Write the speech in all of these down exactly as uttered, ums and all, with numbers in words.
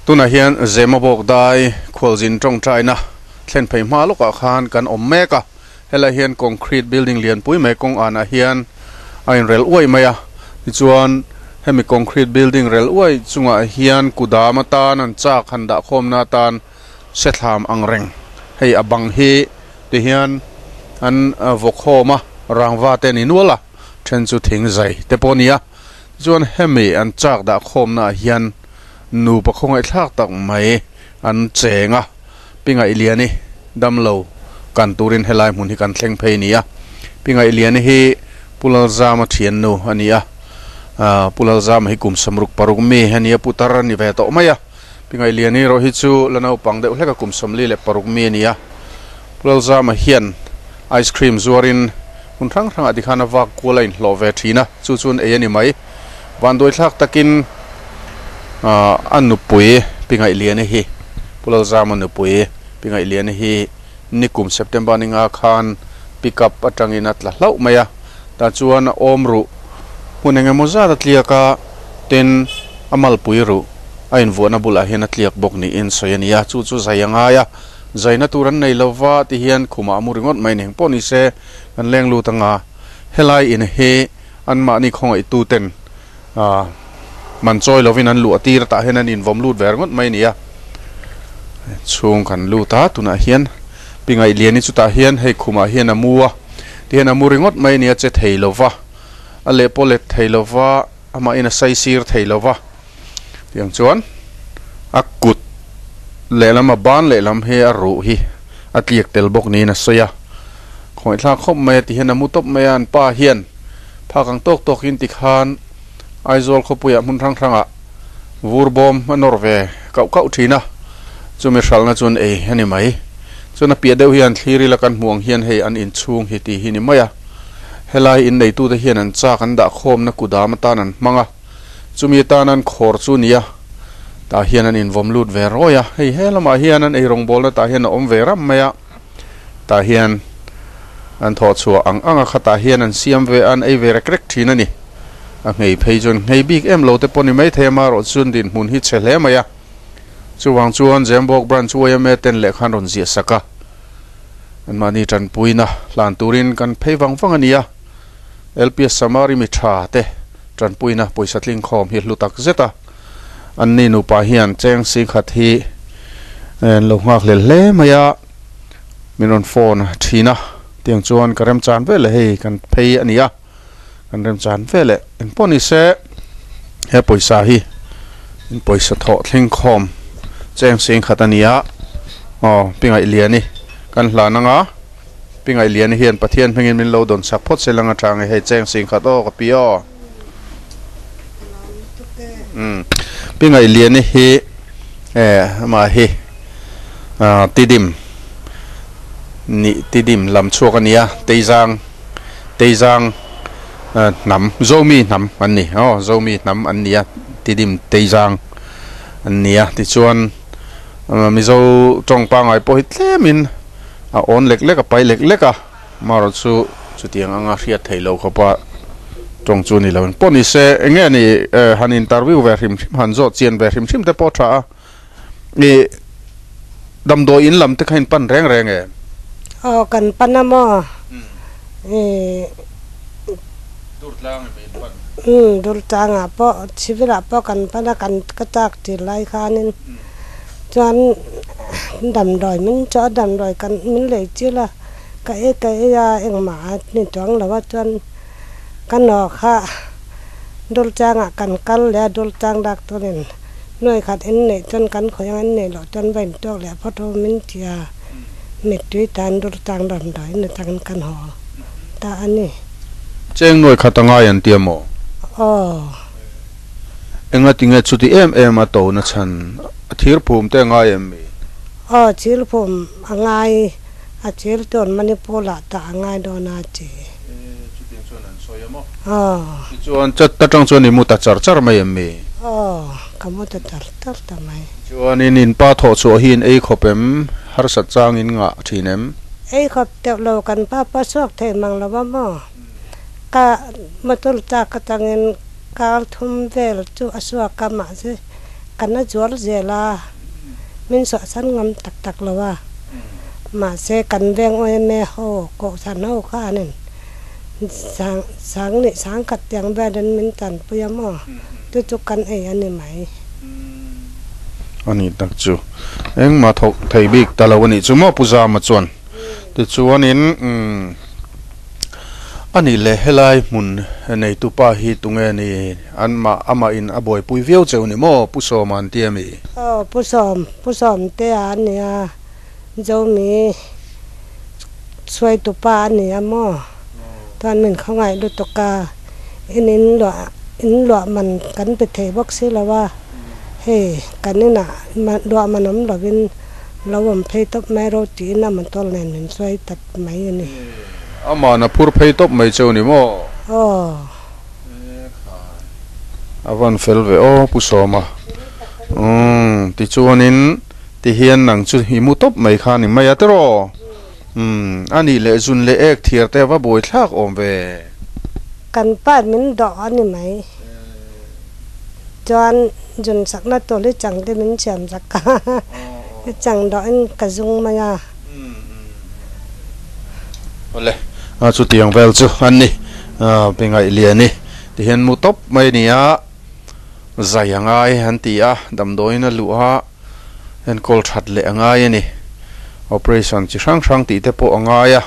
Tunah hian Zemabawk dai khualzin tawngtaina thlen phei hma lawkah khan kan awm mek a, helai hian concrete building lianpui mai kawng anah hian a inrel uai mai a, tichuan hemi concrete building rel uai chungah hian kudam atan an chak han dah khawmna atan sethlam ang reng hei a bang hi ti hian an vawkhawm a rangva te ni nual a then chu thing zai te pawh a ni a, tichuan hemi an chak dah khawmna ah hian nu pakhawngaih thlak tak mai an cheng a, Pingaih Liani damlo kan turin helai hmun hi kan thleng phei a ni a, Pingaih Liani hi Pu Lalzama thiannu a ni a, ah Pu Lalzama hi kum samruk paruk mi a ni a, putar a ni ve tawh mai a, Pingaih Liani erawh hi chu la naupang deuh hlek a kum sawmli leh paruk mi a ni a, Pu Lalzama hian ice cream zuarin hmun hrang hrangah tikhan a vak kual a inhlawh ve thin a, chu chuan ei a ni mai, vanduai thlak takin a nupui Pingaih Liani hi Pu Lalzama nupui Pingaih Liani hi nikum September ninga khan pick up atangin a tla hlauh mai a, tah chuan a awm ruh hmun eng emaw zat a tliak a, tin a malpui ruh a invuahna bulah hian a tliak bawk niin sawi a ni a, chu chu zai a ngai a, zaina tur an nei lova ti hian khumah a mu ringawt mai ni pawh ni se kan leng lut anga helai in hi anmahni khawngaihtu ten ah man chawi lovin an luh a tir tah hian an invawm lut ve ringawt mai a ni a, chhung kan lut a tunah hian Pingaih Liani chutah hian hei khumah hian a mu a tihian a mu ringawt mai a ni a che thei lova a leh pawh let thei lova amahin a saisir thei lova tiang chuan a kut lehlam a ban lehlam hi a ruh hi a tliak tel bawk niin a sawi a khawngaihthlak khawp mai a tihian a mu tawp mai a an pa hian phak ang tawk tawkin tikhan Aizawl khawpuiah hmun hrang hrangah vur bawm a nawr ve kauh kauh thin a, chumi hralhna chuan ei a ni mai. Chuan a piah deuh hian thlir ila kan hmuh ang hian hei an inchhung hi tih hi ni mai a, helai inneitute hian an chak an dah khawmna kudam atan an hmang a, chumi atan an khawr chu nia tah hian an invawm lut ve rawi a, hei he lamah hian an eirawngbawlna tah hian a awm ve ram mai a, tah hian an thawh chhuah ang ang a khatah hian an siam ve a, an ei ve rek rek thin a ni. A nghei phei chuan nghei bik em lo te pawh ni mai thei a, marawh chuan dinhmun hi chhe hle mai a. Chuvang chuan Zembawk Branch Y M A ten lehkha an rawn ziah sak a, anmahni tanpuina hlan turin kan phei vang vang a ni a. L P S Samari mi tha te tanpuina pawisa tling khawm hi hlu tak zet a, anni nupa hian cheng singkhat hi an lo nghak hlel hle mai a. Min rawn phone thin a, tiang chuan ka remchan vel leh hei kan phei a ni a, kan remchan vel leh engpawh ni se he pawisa hi in pawisa thawh thleng khawm cheng sing khat a ni a, aw Pingaih Liani kan hlan anga Pingaih Liani hian Pathian hmingin min lo dawn chak phawt se lang atang e hei cheng sing khat aw ka pi aw umm Pingaih Liani hi eh amah hi. Tidim nih Tidim lam chhuak a ni a, Teizang Teizang hnam Zomi hnam an ni aw Zomi hnam an ni a Tidim Teizang an ni a tichuan Mizo tawng pangngai pawh hi tlemin a awn lek lek a pai lek lek a marawh chu chutiang anga hriat theih loh khawpa tawng chu ni lo pawh ni se eng nge ni han interview ve hrim hrim han zawh chian ve hrim hrim te pawh a tha a. I damdawi in lam te kha in pan reng reng em? Aw kan pan a maw? I Durtlang em in pan? Umm Durtlangah pawh civil ah pawh kan pan a kan ka chak tir lai khanin chuan damdawi min chawh a damdawi kan min lei chil a ka ei ka ei a engmah a ni chuang lo a chuan ka naw kha Durtlangah kan kal leh a Durtlang doctor in Nuai khat en neih chuan kan khawi ang en neih loh chuan va intawk leh phawt ho min ti a, mittui tan dur tang damdawiin atangin kan haw ta a ni. Cheng nuai khat a ngai an ti a maw? Aw. Enga tinge chuti em em a to na chhan a thir phum te a ngai em mi? Aw, thir phum a ngai, a thir chuan Manipur ah tah a ngai dawn a ti. Chutiang chuan an sawi a maw? Aw. Tichuan chat atang chuan i mu ta char char mai em mi? Aw, ka mu ta char char ta mai. Chuanin in pa thawh chhuah hi in ei khawp em? Harsat chang in ngah thin em? Ei khawp teuh lo, kan pa pa chhuak thei mang lo a maw? Ka motor chak atangin kar thum vel chu a chhuak a, mahse Kan a zual zel a min sawh san ngam tak tak lo a mahse kan veng awm ho kohhran ho khanin sang sang leh sang khat tiang velin min tanpui a maw chu chu kan ei a ni mai. Ani tak chu engmah thawk thei bik ta lo a nih chu maw Pu Zama chuan tichuanin umm ani leh helai hmun nei tu pa hi tunge ni an mah amah in a buaipui viau cheu ni maw Pu Sawma an ti ami? Aw Pu Sawm Pu Sawm te a nia Zomi suai tu pa a ni a maw chuan min khawngaih lutuk a in in luah in luah man kan pe thei bawk si lo a hei kan inah luah man awm lovin lo awm phei tawp mai ro tiin a motor nen min suai tat mai a ni. Amah na phur phei tawp mai cheu ni maw? Aw. A van fel ve aw Pu Sawma. Umm tichuanin ti hian nang chu i mu tawp mai kha ni mai a tiraw? Umm a nih leh zun leh ek thiar te va buai thlak awm ve. Kan pa min dawh a ni mai. Chuan zun sakna tur hi chang te min siam sak a, i chang dawhin ka zung mai a. Awle, a chutiang vel chu an ni, pe ngaih lian i ti hian mu tawp mai a ni a, zai a ngai an ti a, damdawiin a luh a, enkawl that leh a ngai a ni. Operation chi hrang hrang tih te pawh a ngai a,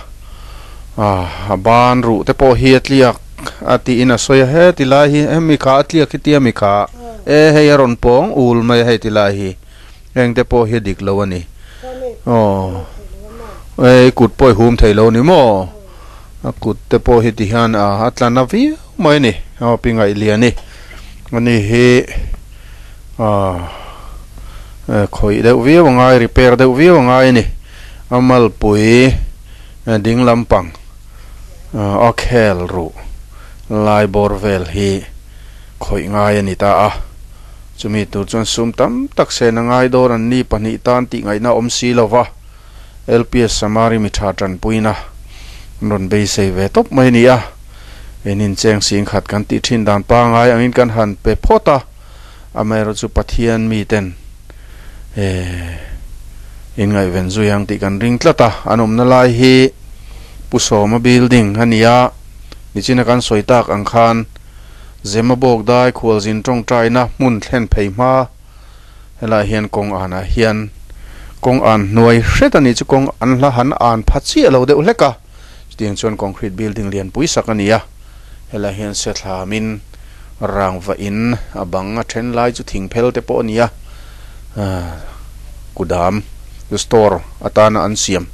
a ban ruh te pawh hi a tliak a tiin a sawi a, he ti lai hi hemi kha a tliak hi tia mi kha e hei a rawn pawng ul mai a hei ti lai hi heng te pawh hi a dik lo a ni. Aw ei kut pawh i hum thei lo ni maw a kut te pawh hi ti hian a a tla na viau mai a ni aw pi ngaih lian i ani hi ah khawih deuh viau a ngai repair deuh viau a ngai a ni a malpui ding lampang a khel ruh lai bawr vel hi khawih ngai a ni ta a chumi tur chuan sum tam tak sen a ngai dawn an ni pahnih tan tih ngaihna awm si lo va L P S Samari mi tha tanpuina an rawn beisei ve tawp mai a ni a en in cheng sing khat kan tih thin dan pangai angin kan han pe phawt a amaherawh chu Pathian miten eh in ngaihven zui ang tih kan ring tlat a an awmna lai hi Pu Sawma building a ni a nichina kan sawi tak ang khan Zemabawk dai khualzin tawngtaina hmun thlen phei hma helaiah hian kawng anah hian kawng an hnuai hret a nih chu kawng an hla han an pha chiah lo deuh hlek a chutiang chuan concrete building lianpui sak a ni a helaiah hian sethlamin rangva in a bang a then lai chu thing phel te pawh a ni a kudam store atana an siam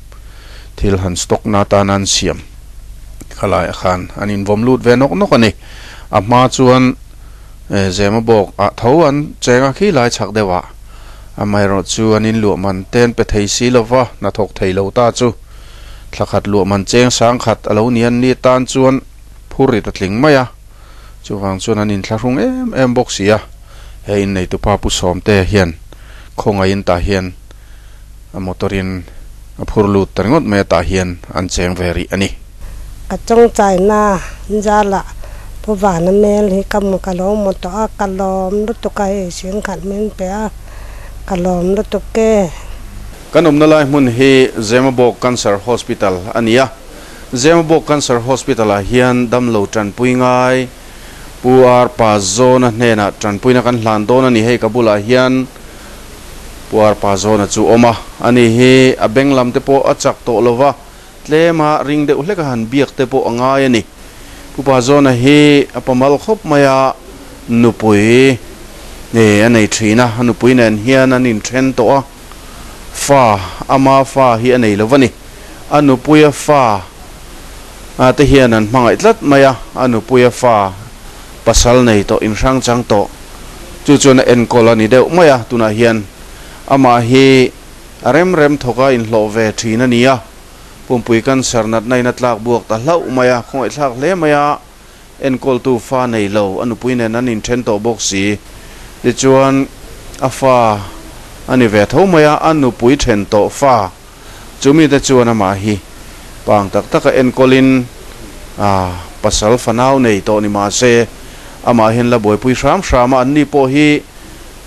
thil han stock na atana an siam khalaiah khan an invawm lut ve nawk nawk a ni a hma chuan Zemabawk ah tho an cheng a khi lai chhak deuh ah amaherawh chu an inluah man ten pe thei si lova hnathawk thei lo ta chu thlakhat luah man cheng sang khat a lo ni an ni tan chuan phur rit a tling mai a chuvang chuan an inthlahrung em em bawk si a he innei tupa Pu Sawmte hian khawngaihin tah hian a motor in a phur lut ta ringawt mai a tah hian an cheng ve rih a ni. Ka tawngtaina zala Pu Vana mel hi ka ka lo maw tawh a ka lawm lutuk a hei singkhat min pe a ka lawm lutuk e. Kan awmna lai hmun hi Zemabawk Cancer Hospital a ni a, Zemabawk Cancer Hospital ah hian damlo tanpui ngai Pu R Pazawna hnenah tanpuina kan hlan dawn a ni hei ka bulah hian Pu R Pazawna chu awm a, ani hi a beng lam te pawh a chak tawh lo va, tlema ring deuh hlek a han biak te pawh a ngai a ni. Pu Pazawna hi a pamal khawp mai a, nupui nge a nei thin a, a nupui nen hian an inthen tawh a, fa ama fa hi a nei lo va ni. A nupuia fa te hian an hmangaih tlat mai a, a nupuia fa pasal nei tawh inhrang chang tawh chu chuan a enkawl a ni deuh mai a, tunah hian amah hi a rem rem thawk a inhlawh ve thin a ni a, pumpui cancer natna in a tlak buak ta hlauh mai a, khawngaihthlak hle mai a, enkawltu fa nei lo a nupui nen an inthen tawh bawk si, tichuan a fa a ni ve tho mai a, a nupui then tawh fa chumi te chuan amah hi pang tak taka enkawlin a pasal fanau nei tawh ni mahse amah hian la buaipui hram hram a, anni pawh hi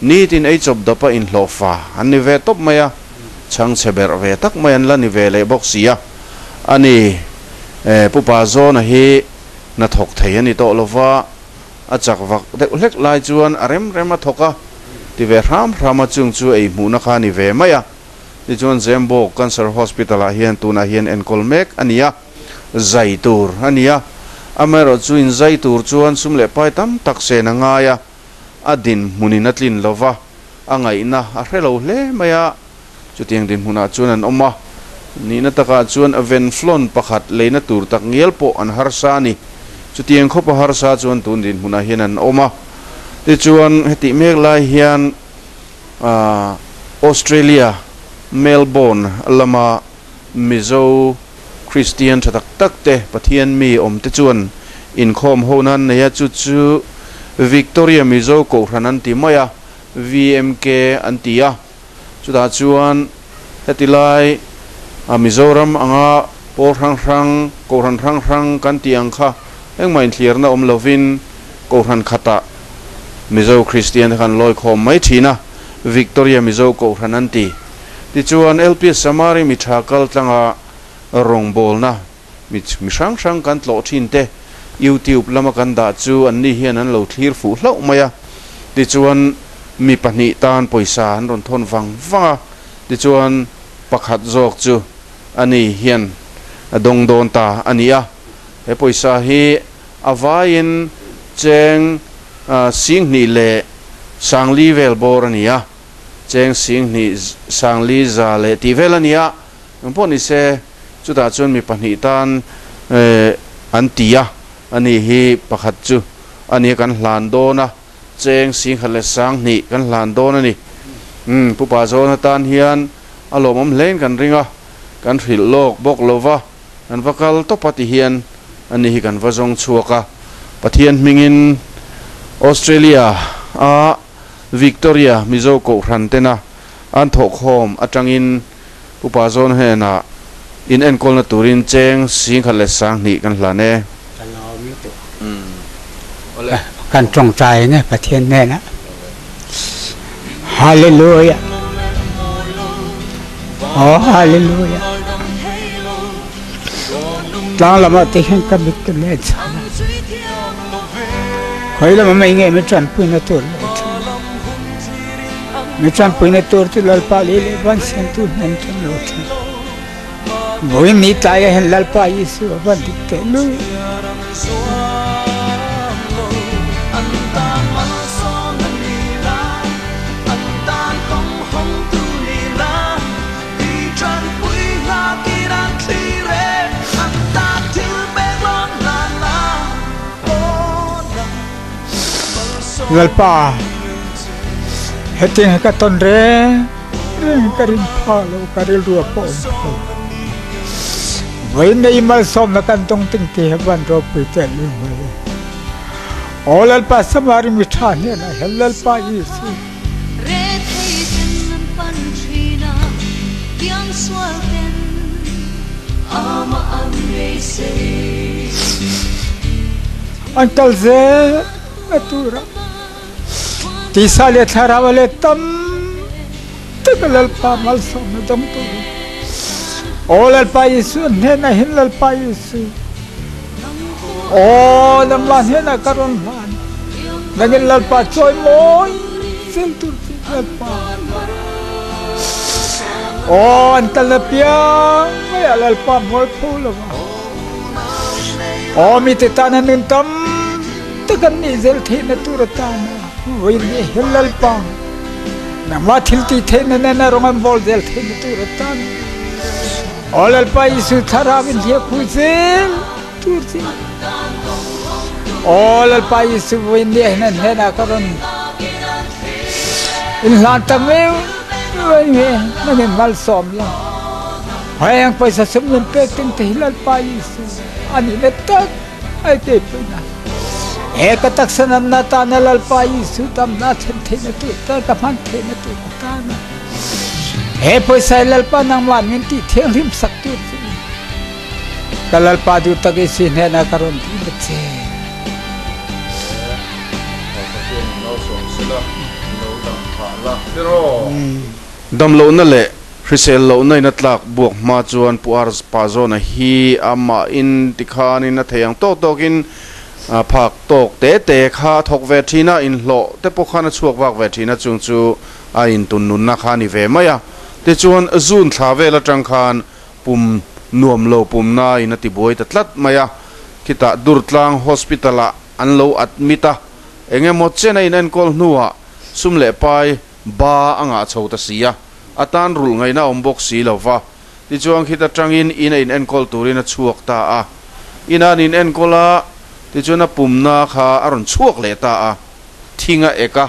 Ni tin ei chop dapa in hlofa an ni ve top maya chang cheber ve tak mai an la ni ve le bawk sia ani e pupa zona hi na thok thei ani to lova a chak vak deuh hlek lai chuan a rem rem a thoka ti ve ram rama chung chu ei hmu na kha ni ve maya ti chuan Zembo Cancer Hospital ah hian tuna hian enkol mek ania zai tur ania amero chu in zai tur chuan sum le pai tam tak se na ngaia adin munin atlin lova angai na a hrelo hle maya chutiang din huna chuan an oma ni na taka chuan a venflon pakhat leina tur tak ngel po an harsa ni chutiang khopa harsa chuan tun din huna hian an oma ti chuan heti mek lai hian a Australia Melbourne lama Mizo Christian thatak tak te Pathian mi om te chuan in khom honan neya chu chu Victoria Mizo ko hranan ti maya V M K antia chuta chuan hetilai a Mizoram anga por rang rang ko ran rang rang kan tiang kha engmah in thlir na om lovin ko ran khata Mizo Christian khan loi khom mai thina Victoria Mizo ko hranan ti ti chuan L P Samari mi thakal tlanga rong bol na mi mi hrang hrang kan tlo thin te YouTube lama kan da chu an ni hian an lo thlir fu hlo maya ti chuan mi pahnih tan poisa an ron thon wang wanga ti chuan pakhat zawk chu ani hian a dong don ta ania he poisa hi awain cheng sing ni le sangli vel bor ania cheng sing ni sangli za le ti vel ania pawh ni se chuta chuan mi pahnih tan an tia ani hi pakhat chu ani kan hlan dona cheng sing khale sang ni kan hlan don ani um pupa zona tan hian alomom hlein kan ringa kan hril lok bok lova an vakal topati hian ani hi kan vazong chuaka Pathian mingin Australia a Victoria Mizo ko hrantena an thok hom atangin pupa zon hena in enkol na turin cheng sing khale sang ni kan hlane kan trong trai nè Pathian nè na Hallelujah oh hallelujah tlang lama te hian ka mit ka le cha khoi lama mai nge mi tran pui na tur mi tran pui na tur chu lal pa le le ban sen tu nan tran lo than voi ni tai hen lal pa Yesu ban dik te lu lalpa heting ka ton re re ka rin pha lo ka ril ru po vai nei mal som na kan tong ting te ban ro pu te lu mai o lalpa samari mi tha ne na hel lalpa Yesu re thei ten pan thina piang swal ten ama an re se antal ze atura tisa le tharawale tam tak lalpa mal som na dam tu o lalpa Yesu ne na hin lalpa Yesu o namla ne na karon man nangin lalpa choi moi sel tur lalpa o antal na pia mai lalpa moi phulo o mi te tan nun tam takan ni zel the na tur ta na voi ni hel pa na ma thil ti the na na rongam bol zel the na tur ta na ol al pa Yesu tharawin thia khu zel tur chi ol al pa Yesu voi ni na na na karon in lan ta me voi me na ne mal som la hayang paisa sum nen pe ting te hilal pa Yesu ani ne tak ai te pe na ek tak sanam na ta na lal pa Yesu tam na then the na tu ta ka phan the na tu ta na he paisa lal pa nang man min ti theng rim sak tu ka lal pa du tak isi ne na karon ti che no som sela no dam phah la tiraw. Damlohna leh hrisel lohna in a tlak buak hma chuan Pu Ar Pazawna hi amah in tikhanin a thei ang tawk tawkin phak tawk te te kha a thawk ve thin a, inhlawh te pawh khan a chhuak vak ve thin a, chung chu a intun nunna kha a ni ve mai a. Tichuan June thla vel atang khan pum nuam lo pumna in a tibuai ta tlat mai a, khitah Durtlang Hospital ah an lo admit a, eng emaw chen a inenkawl hnuah sum leh pai ba a ngah chho ta si a, a tan rulh ngaihna a awm bawk si lo va. Tichuan khit atangin in a inenkawl turin a chhuak ta a, in a an inenkawl a, tichuan a pumna kha a rawn chhuak leh ta a, thing a ek a,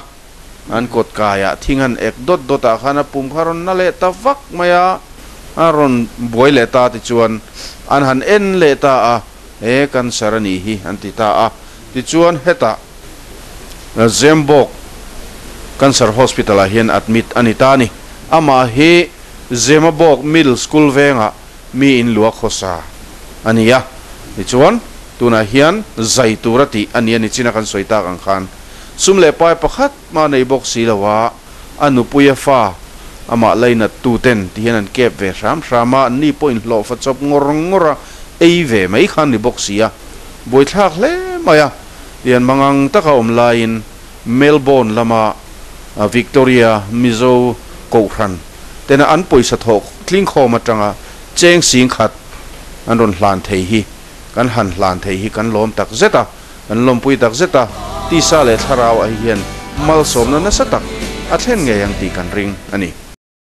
an kawt kaiah thing an ek dawt dawt ah khan a pum kha a rawn na leh ta vak mai a, a rawn buai leh ta tichuan an han en leh ta a, he cancer a nih hi an ti ta a, tichuan hetah Zembawk Cancer Hospital ah hian admit a ni ta a ni. Amah hi Zemabawk Middle School vengah mi in lua khawsa a ni a, tichuan tunah hian zai tur a tih a ni a ni chin a kan sawi tak ang khan sum leh pai pakhat mah nei bawk si lo a, a nupuia fa amah lainat tu ten ti hian an kep ve hram hram a, an ni pawh inhlawhfa chawp ngawr ngawr a, ei ve mai khan ni bawk si a, buaithlak hle mai a. Lian mangang taka awm laiin Melbourne lama Victoria Mizo Kohhran tena an pawisa thawh tlingkhawm atanga cheng sing khat an rawn hlan thei hi kan han hlan thei hi kan lawm tak zet a, kan lawmpui tak zet a, tisa leh thlarau ah hian malsawmna nasa tak a thlen ngei ang tih kan ring a ni.